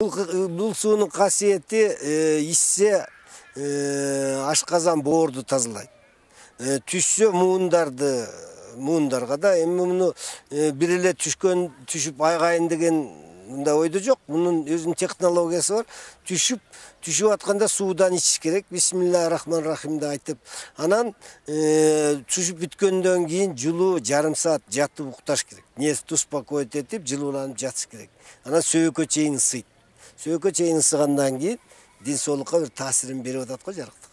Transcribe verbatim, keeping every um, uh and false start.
Бул суунун касиети ичсе ашказан боорду тазалайт. Түшсө муундарды муундарга да эми муну бир эле түшкөн түшүп айгайын деген мындай ойдо жок. Мунун өзүнүн технологиясы бар. Түшүп түшүп атканда суудан ичиш керек. Бисмиллахир-рахманир-рахимди айтып, анан түшүп бүткөндөн кийин жылуу жарым саат жатып укташ керек. Нервди успокоить этип, жылууланып жатыш керек. Анан сөөгүккө чейин ысыйт. Сөөгүккө чейин ысыгандан кийин ден соолукка бир таасирин берип атат го жарыктык.